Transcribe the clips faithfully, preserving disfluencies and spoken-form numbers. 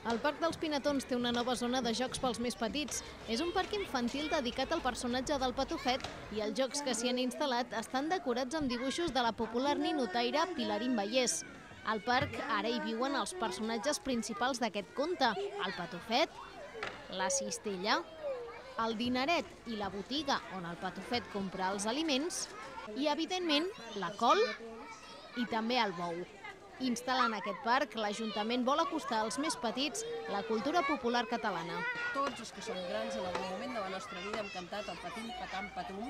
El Parc dels Pinatons té una nova zona de jocs pels més petits. És un parc infantil dedicat al personatge del Patufet i els jocs que s'hi han instal·lat estan decorats amb dibuixos de la popular ninotaire Pilarín Vallès. Al parc ara hi viuen els personatges principals d'aquest conte, el Patufet, la cistella, el dineret i la botiga on el Patufet compra els aliments i, evidentment, la col i també el bou. Instal·lant aquest parc, l'Ajuntament vol acostar als més petits la cultura popular catalana. Tots els que som grans en algun moment de la nostra vida hem cantat el patim, patam, patum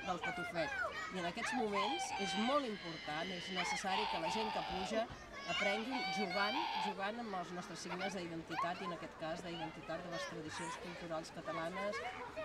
del Patufet. I en aquests moments és molt important, és necessari que la gent que puja aprengui jugant, jugant amb els nostres signes d'identitat i en aquest cas d'identitat de les tradicions culturals catalanes,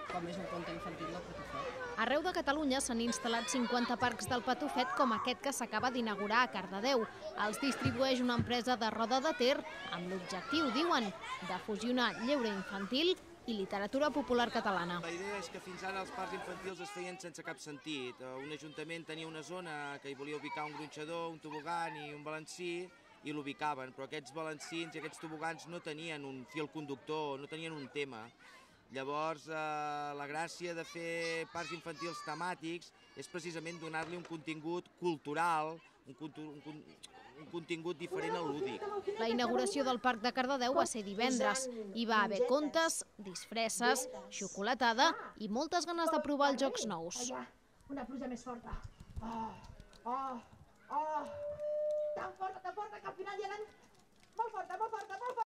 com és un conte infantil del Patufet. Arreu de Catalunya s'han instal·lat cinquanta parcs del Patufet com aquest que s'acaba d'inaugurar a Cardedeu. Els distribueix una empresa de Roda de Ter amb l'objectiu, diuen, de fusionar lleure infantil i literatura popular catalana. La idea és que fins ara els parcs infantils es feien sense cap sentit. Un ajuntament tenia una zona que hi volia ubicar un gronxador, un tobogan i un balancí i l'ubicaven, però aquests balancins i aquests tobogans no tenien un fil conductor, no tenien un tema. Llavors, eh, la gràcia de fer parcs infantils temàtics és precisament donar-li un contingut cultural, un, un, un contingut diferent al lúdic. La inauguració del Parc de Cardedeu va ser divendres. Hi va haver contes, disfresses, xocolatada i moltes ganes de provar els jocs nous. Una pluja més forta. Oh, oh, oh. Tan forta, tan forta que al final hi ha molt forta, molt forta, molt forta.